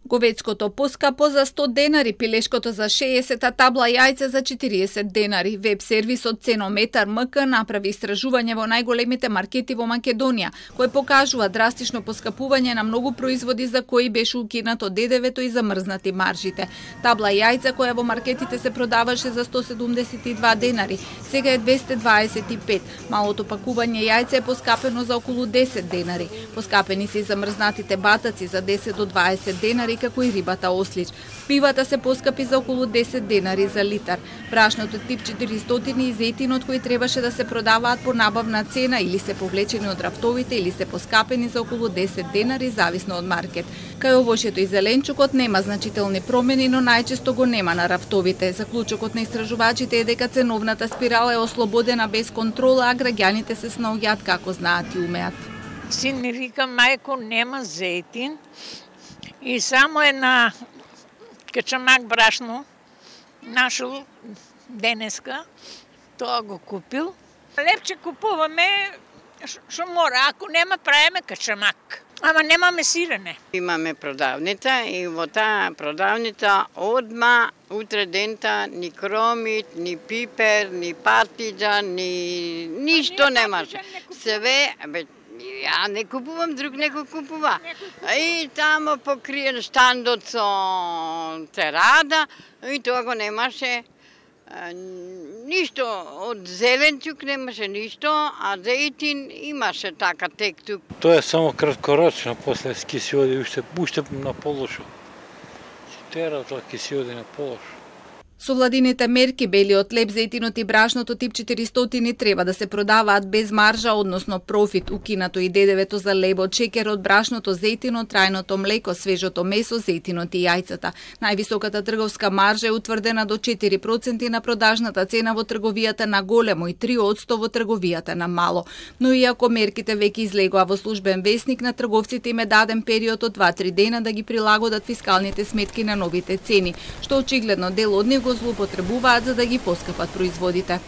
Говецкото поскапо за 100 денари, пилешкото за 60, а табла јајце за 40 денари. Веб сервисот Ценометар МК направи истражување во најголемите маркети во Македонија, кој покажува драстично поскапување на многу производи за кои беше укинато ДДВ-то и замрзнати маржите. Табла јајца која во маркетите се продаваше за 172 денари, сега е 225. Малото пакување јајце е поскапено за околу 10 денари. Поскапени се и замрзнатите батаци за 10 до 20 денари, како и рибата ослич. Пивата се поскапи за околу 10 денари за литар. Брашното тип 400 и зејтинот кои требаше да се продаваат по набавна цена или се повлечени од рафтовите или се поскапени за околу 10 денари зависно од маркет. Кај овошјето и зеленчукот нема значителни промени, но најчесто го нема на рафтовите. Заклучокот на истражувачите е дека ценовната спирала е ослободена без контрола, а граѓаните се снаоѓаат како знаат и умеат. Син ми вика, мајко, нема зејтин и само една качамак брашно нашол денеска, тоа го купил. Лепче купуваме што мора, ако нема правиме качамак. Ама немаме сирене. Имаме продавница и во таа продавница одма утре дента ни кромит, ни пипер, ни партиджан, ни ништо немаше. Све, ја не купувам, друг некој купува. И тамо покриен штандот со церада, и тоа го немаше ништо, од зеленчук немаше ништо, а зејтин имаше така тек-тук. Тоа е само краткорочно, после ки се оди уште на полошо. Тера тоа ки се оди на полошо. Со владините мерки, белиот леб, зејтинот и брашното тип 400 треба да се продаваат без маржа, односно профит, укинато и ДДВ-то за лебот, шекерот, брашното, зејтинот, трајното млеко, свежото месо, зејтинот и јајцата. Највисоката трговска маржа е утврдена до 4% на продажната цена во трговијата на големо и 3% во трговијата на мало. Но иако мерките веќе излегоа во службен весник, на трговците им е даден период од 2-3 дена да ги прилагодат фискалните сметки на новите цени, што очигледно дел од нив го злоупотребуваат за да ги поскапат производите.